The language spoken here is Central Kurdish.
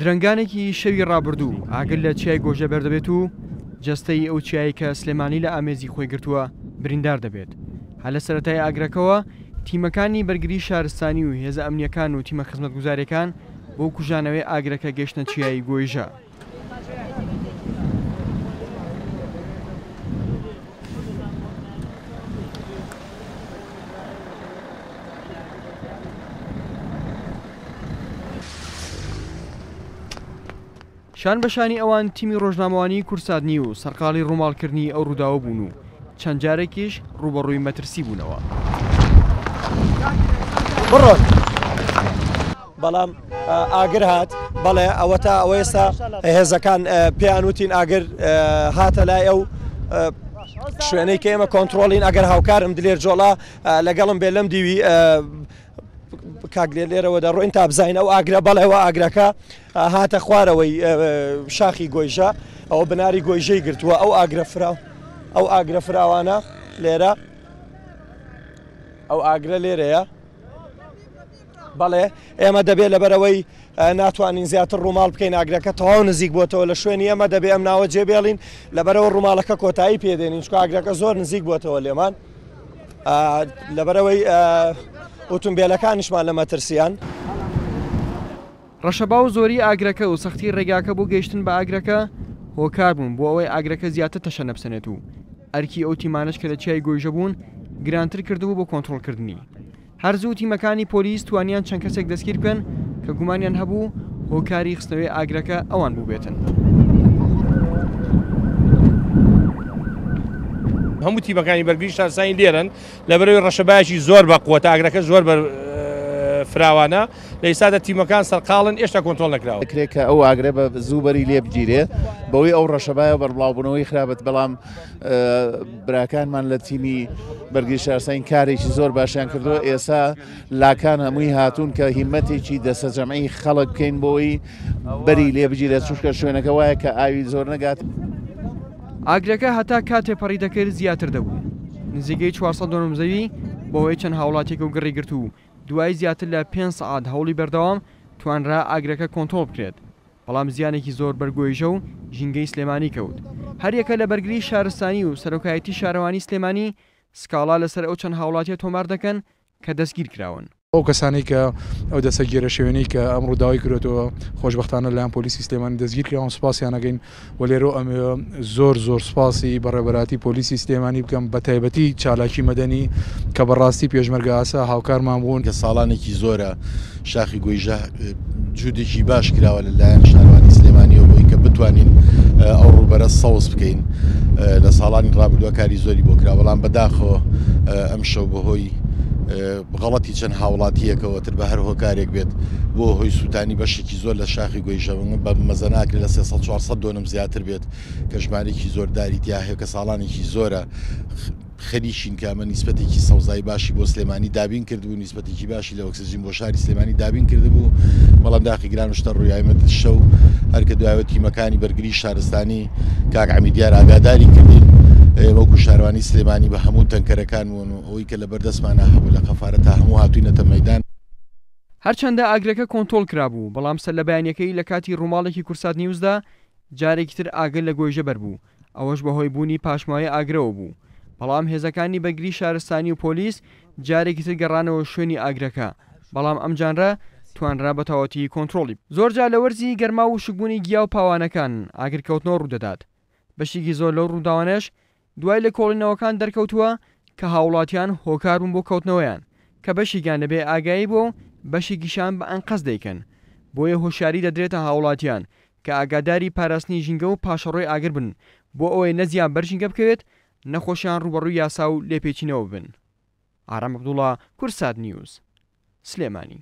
درەنگانێکی شەوی ڕابردوو ئاگر لە چیای گۆژە بەردەبێت و جەستەی ئەو چیایەی کە سلێمانی لە ئامێزی خۆی گرتووە بریندار دەبێت. هەر لە سەرەتای ئاگرەکەوە تیمەکانی بەرگری شارستانی و هێزە ئەمنییەکان و تیمە خزمەتگوزارییەکان بۆ کوژانەوەی ئاگرەکە گەیشتنە چیای گۆیژە. شان بە شانی ئەوان تیمی ڕۆژنامەوانیی کوردسات نیوز سەرقاڵی ڕووماڵکردنی ئەو ڕووداوە بوون و چەند جارێکیش ڕووبەڕووی مەترسی بوونەوە. بڕۆن. بەڵام ئاگر هات بەڵێ ئەوەتا ئەوە ئێستا هێزەکان پێیان وتین ئاگر هاتە لای ئەو شوێنەی کە ئێمە کۆنتترۆلین ئەگەر هاوکارم دلێر جۆڵا لەگەڵم بێ لەم دیوی کاک لێ لێرەوە دەڕۆین تا بزانین ئەو ئاگرە بەڵێەوە ئاگرەکە هاتە خوارەوەی شاخی گۆیژە ئەوە بناری گۆیژەی گرتووە ئەو ئاگرە فرا ئەو ئاگرە فراوانە لێرە ئەو ئاگرە لێرەیە بەڵێ ئێمە دەبێت لەبەرەوەی ناتوانین زیاتر ڕووماڵ بکەین ئاگرەکە تەواو نزیک بووەتەوە لە شوێنی ئێمە دەبێ ئەم ناوە جێبێڵین لەبەرەوە ڕووماڵەکە کۆتایی پێدێنین چکە ئاگرەکە زۆر نزیک بووەتەوە لێمان لەبەرەوەی ئۆتومبیلەکانیشمان لە مەترسیان. ڕەشەبا و زۆری ئاگرەکە و سەختی ڕێگاکە بۆ گەیشتن بە ئاگرەکە هۆکار بوون بۆ ئەوەی ئاگرەکە زیاتر تەشەنە بسەنێت و ئەرکی ئەو تیمانەش کە لە چیای گۆیژە بوون گرانتر کردبوو بۆ کۆنترۆڵکردنی. هەر زوو تیمەکانی پۆلیس توانیان چەند کەسێک دەستگیر بکەن کە گومانیان هەبوو هۆکاری خستنەوەی ئاگرەکە ئەوان بووبێتن. هەموو تیمەکانی بەرگری شارستانی لێرەن، لەبەرئەوەی ڕەشەبایەکی زۆر بە قوەتە، ئاگرەکە زۆر بە فراوانە، لە ئیستادا تیمەکان سەرقاڵن، ئێشتا کۆنترۆڵ نەکراوە. دەکرێت کە ئەو ئاگرە بە زوو بەری لێ بگیرێ بەوەی ئەو ڕەشەبایە و بەربڵاوبوونەوەی خراپت، بەڵام براکانمان لە تیمی بەرگری شارستانی کارێکی زۆر باشیان کردووە ئێسا لاکان هەمووی هاتوون کە هیمەتێکی دەسەجەمعی خەڵک بکەین بۆی بەری لێ بگیرێت چونکە شوێنەکە وایە کە ئاوی زۆر نەگات. ئاگرەکە هەتا کات تێپەڕی دەکرد زیاتر دەبوو. نزیکەی 400 دۆنم زەوی بەهۆی چەند هاوڵاتیەکەو گڕی گرت و دوای زیاتر لە پێنج سەعات هەوڵی بەردەوام توانرا ئاگرەکە کۆنترۆڵ بکرێت. بەڵام زیانێکی زۆر بەر گۆیژە و ژینگەی سلێمانی کەوت. هەریەکە لە بەرگری شارستانی و سەرۆکایەتی شارەوانی سلێمانی سکاڵا لەسەر ئەو چەند هاوڵاتیە تۆمار دەکەن کە دەستگیرکراون. ئەو کەسانەی کە ئەو دەستە گێرەشێوێنەی کە ئەم ڕووداوەی کردۆتەوە خۆشبەختانە لەلایەن پۆلیسی سلێمانی دەستگیرکراون سوپاسیان ئەکەین و لێرەوە ئەمەوێ زۆر زۆر سوپاسی بەڕێوەبەراتی پۆلیسی سلێمانی بکەم بەتایبەتی چالاکی مەدەنی کە بەڕاستی پێشمەرگە ئاسا هاوکارمان بوون. کە ساڵانێکی زۆرە شاخی گۆیژە جودێکی باش کراوە لە لایەن شارەوانی سلێمانیەوە بۆی کە بتوانین ئەو ڕووبەرە سەوز بکەین لە ساڵانی ڕابردووە کاری زۆری بۆ کرا بەڵام بەداخەوە ئەم شەو بەهۆی غەڵەتی چەند هاوڵاتیەکەوە تر بە هەر هۆکارێک بێت بۆ هۆی سووتانی بەشێکی زۆر لە شاخی گۆیژە بە مەزەناکرێت لە 300 400 دۆنم زیاتر بێت کە ژمارێکی زۆر داری تیا هەیە کە ساڵانێکی زۆرە خەریکین کە ئەمە نیسبەتێکی سەوزایی باشی بۆ سلێمانی دابین کردبوو، نیسبەتێکی باشی لە ئۆکسجین بۆ شاری سلێمانی دابین کردبوو، بەڵام داخی گران و شتە ڕوویایمەت شەو هەر کە دوایەوە تیمەکانی بەرگری شارستانی کاک عەمید دیار ئاگاداری کردین وەکو شارەوانی سلێمانی بە هەموو تەنکەرەکانمون و ئەوەی کە لەبەردەستمانا هەبوو لە قەفارە تا هەموو هاتوینەتە مەیدان. هەرچەندە ئاگرەکە کۆنتۆڵ کرابوو، بەڵام سەرلەبەیانیەکەی لە کاتی ڕووماڵێکی کوردسات نیوزدا جارێکی تر ئاگر لە گۆیژە بەربوو، ئەوەش بەهۆی بوونی پاشماوەی ئاگرەوە بوو، بەڵام هێزەکانی بەرگری شارستانی و پۆلیس جارێکی تر گەڕانەوە شوێنی ئاگرەکە، بەڵام ئەمجانرە توانرا بەتەواوەتی کۆنترۆڵی. زۆرجار لە وەرزی گەرما و وشکبوونی گیا و پاوانەکان ئاگرکەوتنەوە ڕوودەدات، بەشێکی زۆر لەو ڕووداوانەش دوای لێکۆڵینەوەکان دەرکەوتووە کە هاوڵاتیان هۆکار بوون بۆ کەوتنەوەیان، کە بەشێکیان لە بێ ئاگایی بووە و بەشێکیشیان بە ئەنقەست دەیکەن، بۆیە هۆشیاری دەدرێتە هاوڵاتیان کە ئاگاداری پاراستنی ژینگە و پاشەڕۆی ئاگر بن بۆ ئەوەی نە زیان بەر ژینگە بکەوێت نە خۆشیان ڕووبەڕووی یاسا و لێپێچینەوە ببن. ئارام عەبدوڵا، کوردسات نیوز، سلێمانی.